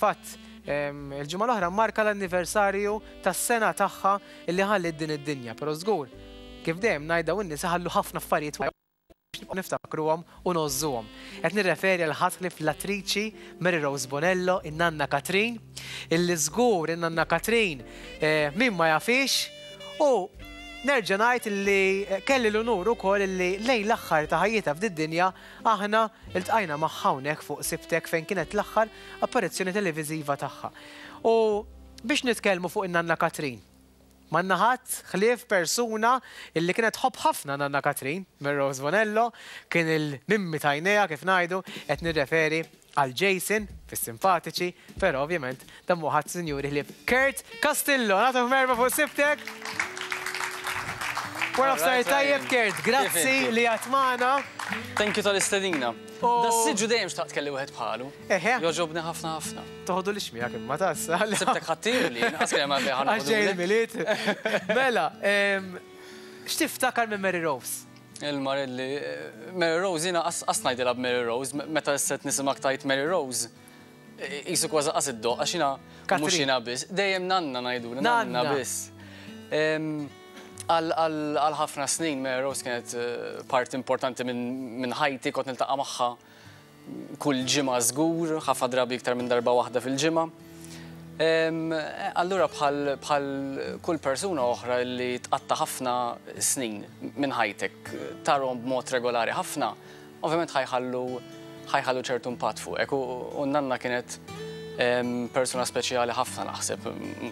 Fil-fatt, il-ġimgħa l-oħra mmarka l-anniversarju tas-sena tagħha li ħalliet din id-dinja, però żgur, kif dejjem ngħid dawn in-nies iħallu ħafna affarijiet warajhom biex nibqgħu niftakruhom u ngħożżuhom. Qed nirreferi għal ħadd ħlief l-attriċi Mary Rose Bonello, in-nanna Katrin, illi żgur in-nanna Katrin min ma jafhiex u nerġa' ngħid illi kelli l-unur ukoll illi lejn l-aħħar ta' ħajjitha f'did-dinja aħna ltqajna magħha hawnhekk fuq Sibtek fejn kienet l-aħħar apparizzjoni televiżiva tagħha. U biex nitkellmu fuq in-nanna Katrin, m'għandna ħadd ħlief persuna illi kienet tħobb ħafna nanna Katrin, Mary Rose Bonello, kien il-mimmi t'għajnejha kif ngħidu, qed nirreferi għal Jason fis-Simpatiċi, però ovvjament dan mhu ħadd sinjuri ħlief Kurt Castillo. Nagħtuh merħba fuq Sibtek! Wara nofsinhar tajjeb Kurt, grazzi li għadt magħna. Thank you tal-istedina. Das-siġġu dejjem xtaqt kelli wieħed bħalu. Eħe. Jogħġobni ħafna ħafna. Toħodulix miegħek imma tas. Sibtek ħadtihuli, inqas kien hemm għalfejn ħa Għax ġej il-Milied. Mela, x'tiftakar minn Mary Rose? Il-Marelli, Mary Rose jiena qas ngħidilha b'Mary Rose, meta issa qed nisimgħek tgħid Mary Rose, qisu kważi qas iddoqq għax jiena mhux jiena biss, dejjem nanna ngħidulha, nanna biss. Għal ħafna snin Mary Rose kienet parti importanti minn ħajti, kont niltaqa' magħha kull ġimgħa żgur, ħafna drabi iktar minn darba waħda fil-ġimgħa. Allura bħal bħal kull persuna oħra li tqatta' ħafna snin minn ħajtek tarhom b'mod regolari ħafna, ovvjament ħa jħallu ħa jħallu ċertu impatt fuqek u n-nanna kienet persuna speċjali ħafna naħseb,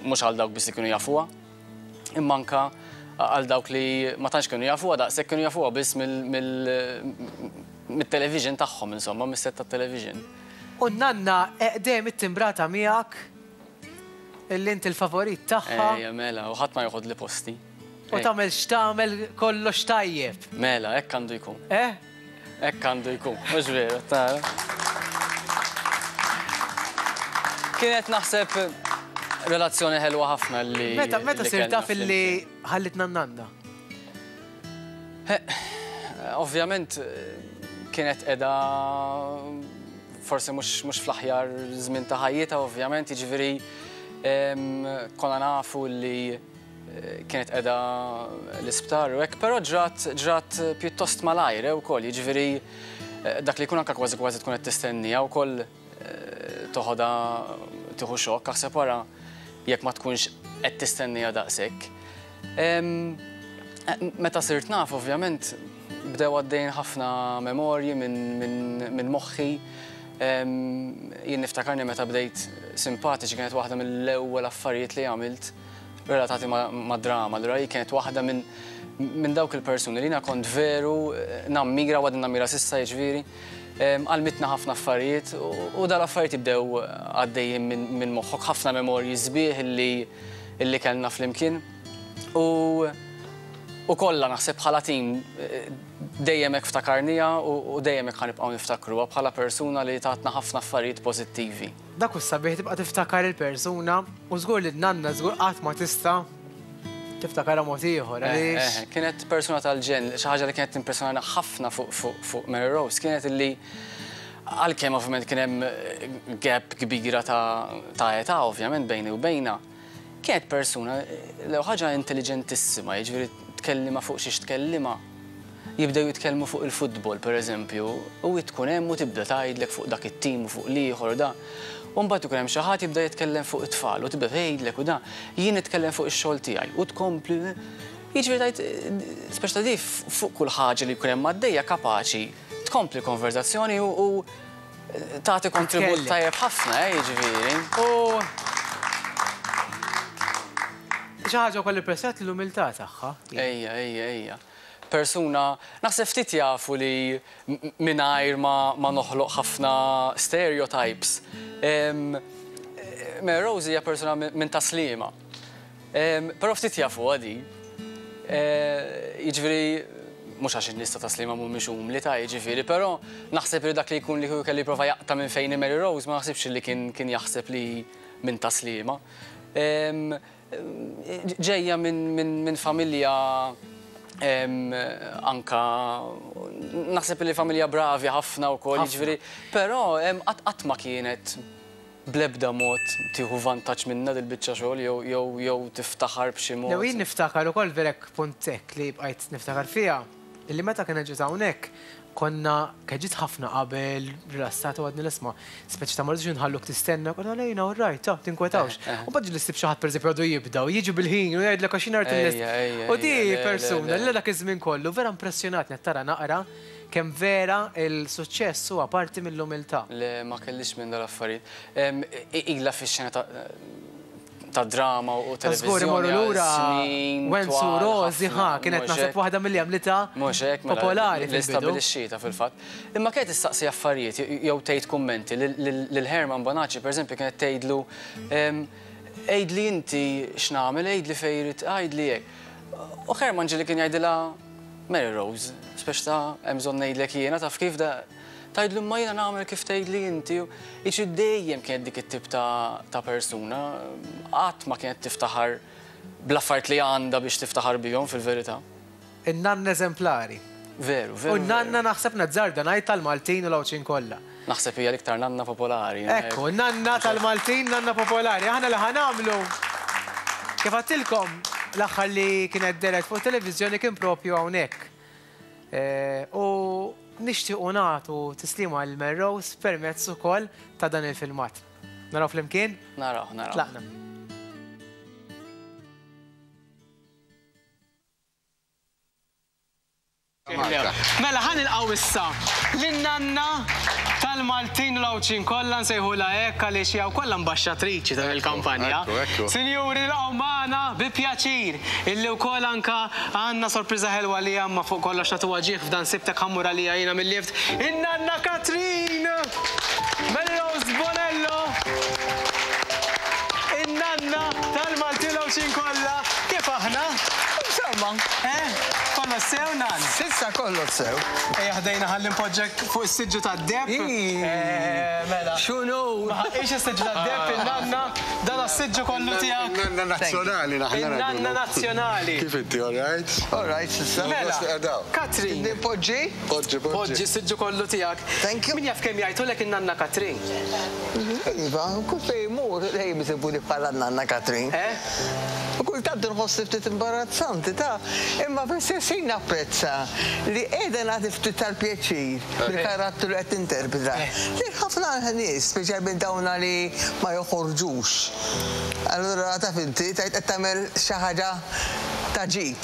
mhux għal dawk biss li kienu jafuha. Imma anke għal dawk li ma tantx kienu jafuha daqshekk kienu jafuha biss mit-television tagħhom insomma, mis-set tat-television. U n-nanna dejjem ittimbrata miegħek illi inti l-favorit tagħha. Ejja mela, u ħadd ma joħodli posti. U tagħmel x'tagħmel kollox tajjeb. Mela, hekk għandu jkun. Eh? Hekk għandu jkun, mhux veru, tara. Kienet naħseb relazzjoni ħelwa ħafna li. Meta meta sirt taf illi ħallitna n-nanna? Ovvjament kienet qiegħda forsi mhux fl-aħjar żmien ta' ħajjitha ovvjament, jiġifieri konna nafu li kienet qiegħda l-isptar u hekk, però ġrat ġrat pjuttost malajr eh, ukoll, jiġifieri eh, dak li jkun anke kważi kważi tkun qed tistennija wkoll eh, toħodha tieħu xokk, aħseb wara jekk ma tkunx qed tistennija daqshekk. Meta sirt naf ovvjament bdew għaddejjin ħafna memorji minn moħħi. Jien niftakarni meta bdejt simpatiċi kienet waħda mill-ewwel affarijiet li għamilt relatati mad-drama. Allura hi kienet waħda minn minn dawk il-persuni li jiena kont veru nammira u għadni nammira s'issa jiġifieri. Għallmitna ħafna affarijiet u dal-affarijiet jibdew għaddejjin minn moħħok ħafna memorji sbieħ illi illi kellna flimkien. U u kollha naħseb bħala tim dejjem hekk ftakarniha u dejjem hekk ħa nibqgħu niftakruha bħala persuna li tatna ħafna affarijiet pożittivi. Dak hu s-sabiħ tibqa' tiftakar il-persuna u żgur li n-nanna żgur qatt ma tista' tiftakarha mod ieħor għaliex. Eh, kienet persuna tal-ġenn, xi ħaġa li kienet timpressjonana ħafna fuq Mary Rose kienet illi għalkemm ovvjament kien hemm gap kbira ta' età ovvjament bejni u bejnha, kienet persuna l-ewwel ħaġa intelliġentissima, jiġifieri tkellimha fuq xiex tkellimha, jibdew jitkellmu fuq il-futbol pereżempju, u hi tkun hemm u tibda tgħidlek fuq dak it-tim u fuq l-ieħor u da. U mbagħad ikun hemm xi ħadd jibda jitkellem fuq it-tfal u tibda tgħidlek u da. Jien nitkellem fuq ix-xogħol tiegħi u tkompli. Jiġifieri tgħid speċi ta' di fuq kull ħaġa li jkun hemm għaddejja kapaċi tkompli konverżazzjoni u tagħti kontribut tajjeb ħafna, eh, jiġifieri. U xi ħaġa wkoll impressjonat l-umiltà tagħha. Ejja, ejja, ejja. Persuna, naħseb ftit jafu li mingħajr ma noħloq ħafna stereotypes, Mary Rose hija persuna minn Tas-Sliema. Però ftit jafuha di. Jiġifieri, mhux għax in-nies ta' Tas-Sliema mhumiex umli ta' jiġifieri, però naħseb li dak li jkun li kieku kellu jipprova jaqta' minn fejn hi Mary Rose ma naħsibx li kien jaħseb li hi minn Tas-Sliema. Ġejja minn familja anka naħseb li familja bravi ħafna wkoll, jiġifieri, però qatt ma kienet. Bl-ebda mod tieħu vantaġġ minnha dil-biċċa xogħol jew jew jew tiftaħar b'xi mod. Jew jien niftakar ukoll vera hekk punt hekk li bqajt niftakar fiha, illi meta kienet ġiet hawnhekk konna kienet ġiet ħafna qabel, rilassata u għadnilha isma' speċi ta' ma rridux inħalluk tistenna, konna lejna all right, ta' tinkwetawx. U mbagħad ġieli ssib xi ħadd pereżempju għadu jibda u jiġi bil-ħin u jgħidlek għax jien rrid inlesti. U di persuna li dak iż-żmien kollu vera impressjonatni qed tara naqra Kemm vera il-suċċess huwa parti mill-umiltà. Le, ma kellix minn dal-affarijiet. Ilha fix-xena ta' drama u televiżjoni għal snin twal. Wenzu Rosi, ħa, kienet naħseb waħda milli għamlitha popolari fil-bidu. Li stabbilixxietha fil-fatt. Imma kienet issaqsi affarijiet jew tgħid kummenti lil Herman Bonacci, pereżempju, kienet tgħidlu, Għidli inti x'nagħmel, għidli fejn irrid, għidli hekk. U Herman ġieli kien jgħidilha, Mary Rose, speċi ta' hemm bżonn ngħidlek jiena, taf kif da tgħidlu imma jiena nagħmel kif tgħidli inti. Jiġifieri dejjem kienet dik it-tip ta' ta' persuna, qatt ma kienet tiftaħar bl-affarijiet li għandha biex tiftaħar bihom fil-verità. In-nanna eżemplari. Veru, veru. U n-nanna naħseb nazzarda ngħid tal-Maltin u l-Għawdxin kollha. Naħseb hija l-iktar nanna popolari. Ekku, nanna tal-Maltin, nanna popolari. Aħna li ħa nagħmlu, kif għedtilkom, l-aħħar li kienet dehret fuq it-televiżjoni kien propju hawnhekk. U nixtiequ nagħtu tislima lil Mary Rose permezz ukoll ta' dan il-filmat. Naraw flimkien? Naraw, naraw. Tlaqna. Mela ħa nilqgħu issa lin-nanna tal-Maltin u l-Għawdxin kollha nsejħulha hekk għaliex hija wkoll ambaxxatriċi ta' din il-kampanja. Sinjuri nilqgħu magħna bi pjaċir illi wkoll anke għandna sorpriża ħelwa għaliha imma fuq kollox nagħtuha ġieħ f'dan sibtek ħa mmur għaliha jiena mil-lift, in-nanna Katrin! Mary Rose Bonello! In-nanna tal-Maltin u l-Għawdxin kollha, kif aħna? Insomma. Eh? Kollox sew, Nan? S'issa kollox sew. Ejja ħdejna ħalli npoġġek fuq is-siġġu tad-deheb. Eh, mela. X'unur! Ma ħaqqix is-siġġu tad-deheb in-nanna, dan għas-siġġu kollu tiegħek. In-nanna nazzjonali naħna. In-nanna nazzjonali. Kif inti, all right? All right, s'issa. Mela, Katrin. Nipoġġi? Poġġi, poġġi. Poġġi s-siġġu kollu tiegħek. Thank you. Min jaf kemm jgħidulek in-nanna Katrin? Iva, kull fejn immur dejjem isibuni bħala n-nanna Katrin. Eh? U kultant inħossni ftit imbarazzanti, ta' imma fl-istess ħin napprezza li qiegħda nagħti ftit tal-pjaċir bil-karattru li qed ninterpreta lil ħafna nies, speċjalment dawna li ma joħorġux. Allura taf inti, tgħid qed tagħmel xi ħaġa ta' ġid.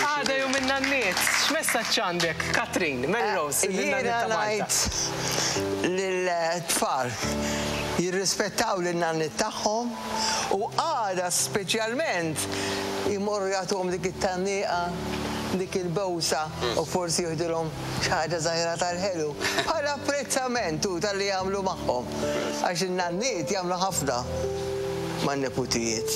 Għada jum in-nanniet, x'messaġġ għandek, Katrin, Mary Rose, lin-nanniet ta' Malta? Jiena ngħid lill-tfal jirrispettaw lin-nanniet tagħhom u għada speċjalment jmorru jagħtuhom dik it-tgħanniqa, dik il-bewsa u forsi jieħdulhom xi ħaġa żgħira tal-ħelu bħala apprezzament hu talli jagħmlu magħhom għax in-nanniet jagħmlu ħafna man-neputijiet.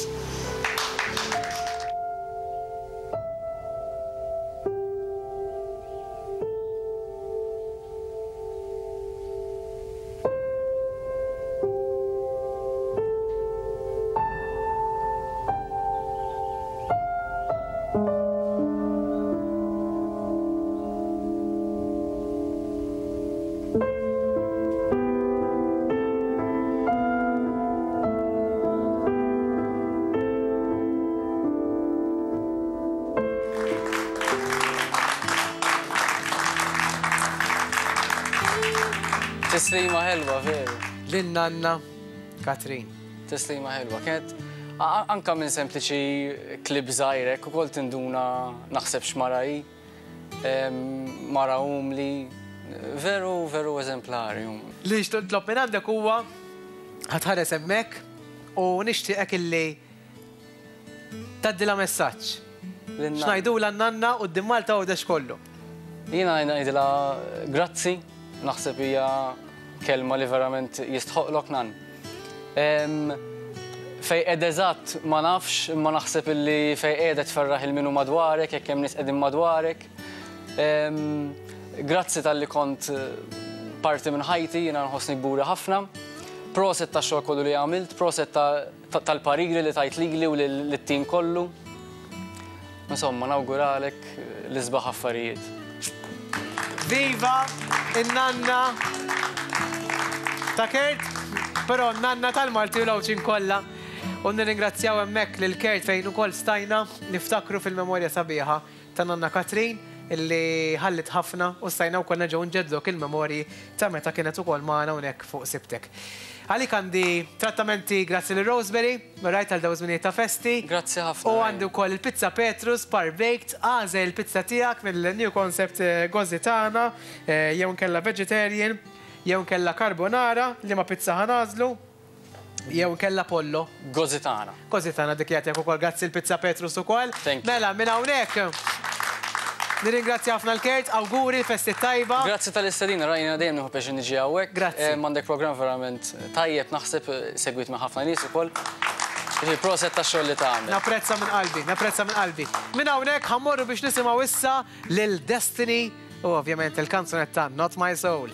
Tislima ħelwa veru. Lin-nanna Katrin. Tislima ħelwa. Kienet anka minn sempliċi klib żgħir hekk ukoll tinduna naħseb x'mara hi. Mara umli, veru veru eżemplari. Li nixtieq nitlob minn għandek huwa ħa tħares hemmhekk u nixtieqek illi tgħaddilha messaġġ. X'ngħidulha n-nanna quddiem Malta Għawdex kollu? Jiena ngħidilha grazzi, naħseb hija kelma li verament jistħoqlok nan. Fejn qiegħda eżatt ma nafx, imma naħseb illi fejn qiegħda tferraħ il min hu madwarek, jekk hemm nies qegħdin madwarek. Grazzi talli kont parti minn ħajti, jiena nħossni kburi ħafna. Proset tax-xogħol kollu li għamilt, proset tal-pariri li tajt lili u lit-tim kollu. Insomma, nawguralek l-isbaħ affarijiet. Viva in-nanna ta' Kurt! Però nanna tal-Malti u l-Għawdxin kollha. U nirringrazzjaw hemmhekk lil Kurt fejn ukoll stajna niftakru fil-memorja sabiħa ta' nanna Katrin illi ħalliet ħafna u stajna wkoll nerġgħu nġeddlu dawk il-memorji ta' meta kienet ukoll magħna hawnhekk fuq Sibtek. Għalik għandi trattamenti grazzi lil Rosemary, rajt għal dawn iż-żminijiet ta' festi. Grazzi ħafna. U għandi wkoll il-pizza Petrus par baked, agħżel il-pizza tiegħek mill-New Concept Gozzi tagħna, jew inkella vegetarian, jew inkella carbonara, liema pizza ħa nagħżlu? Jew inkella pollo. Gozzi tagħna. Gozzi tagħna dik jagħtik ukoll grazzi l-pizza Petrus ukoll. Thank you. Mela minn hawnhekk nirringrazzja ħafna l-Kurt, awguri, festi tajba. Grazzi tal-istedina, rajna dejjem nieħu pjaċir niġi hawnhekk. Grazzi. M'għandek programm verament tajjeb naħseb segwit minn ħafna nies ukoll. Ġifieri proset tax-xogħol li tagħmel. Napprezza minn qalbi, napprezza minn qalbi. Minn hawnhekk ħammorru biex nisimgħu issa lil Destiny u ovvjament il-kanzunetta Not My Soul.